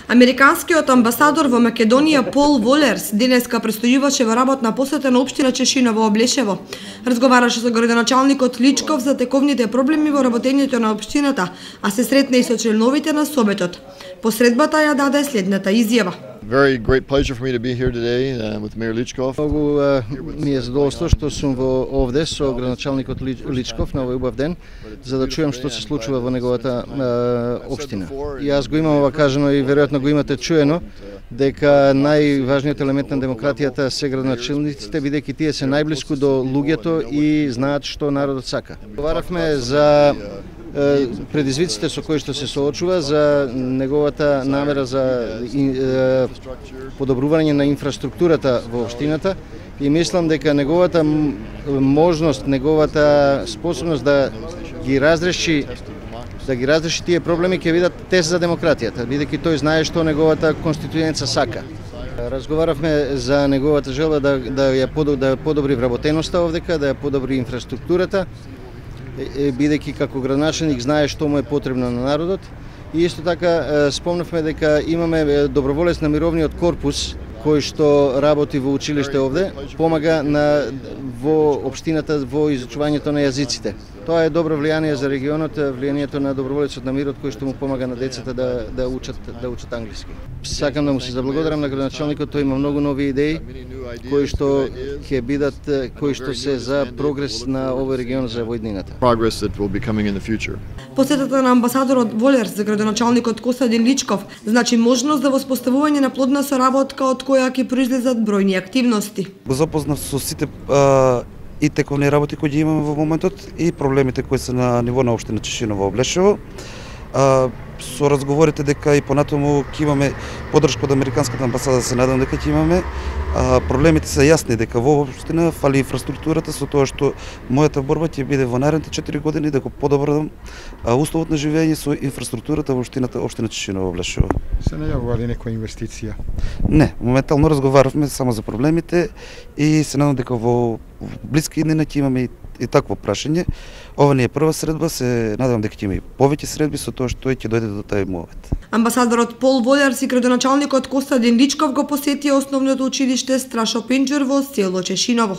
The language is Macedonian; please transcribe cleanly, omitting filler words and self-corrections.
Американскиот амбасадор во Македонија Пол Волерс денеска престојуваше во работна посета на општина Чешиново Облешево. Разговараше со градоначалникот Личков за тековните проблеми во работењето на општината, а се сретна и со членовите на Советот. Посредбата ја даде следната изјава. Very great pleasure for me to be here today with Mayor Lichkov. Многу ми е задоволство што сум овде со градоначалникот Личков на овој убав ден, за да чујам што се случува во неговата општина. И јас го имам ова кажано и веројатно го имате чуено, дека најважниот елемент на демократијата се градоначалниците, бидејќи тие се најблиску до луѓето и знаат што народот сака. Говоравме за предизвиците со кои што се соочува, за неговата намера за подобрување на инфраструктурата во општината и мислам дека неговата можност, неговата способност да ги разреши тие проблеми ќе бидат тест за демократијата, бидејќи тој знае што неговата конституенца сака. Разговаравме за неговата желба да ја подобри вработеноста овдека, да ја подобри инфраструктурата, бидејќи како градоначалник знае што му е потребно на народот. И исто така спомнавме дека имаме доброволец на мировниот корпус кој што работи во училиште овде, помага во општината во изучувањето на јазиците. Тоа е добро влијание за регионот, влијанието на доброволецот на мирот кој што му помага на децата да учат англиски. Сакам да му се заблагодарам на градоначалникот, тој има многу нови идеи кои што ќе бидат се за прогрес на овој регион за во иднината. Посетата на амбасадорот Волерс за градоначалникот Костадин Личков значи можност за воспоставување на плодна соработка од која ќе произлезат бројни активности. Го запознав со сите и тековни работи кои ги имаме во моментот и проблемите кои се на ниво на општина Чешиново Облешево. Со разговорите дека и понатаму ќе имаме поддршка од Американската амбасада, се надам дека ќе имаме. Проблемите се јасни дека во општина фали инфраструктурата, со тоа што мојата борба ќе биде во наредните 4 години да го подобрам условот на живење со инфраструктурата во општина Чешиново Облешево. Се најавува ли некоја инвестиција? Не, моментално разговаравме само за проблемите и се надам дека во блиски иднина ќе имаме и такво прашање. Ова не е прва средба, се надевам дека ќе има и повеќе средби со тоа што ќе дојде до тај момент. Амбасадорот Пол Волерс и градоначалникот Костадин Личков го посетија основното училиште Страшо Пинџур во село Чешиново.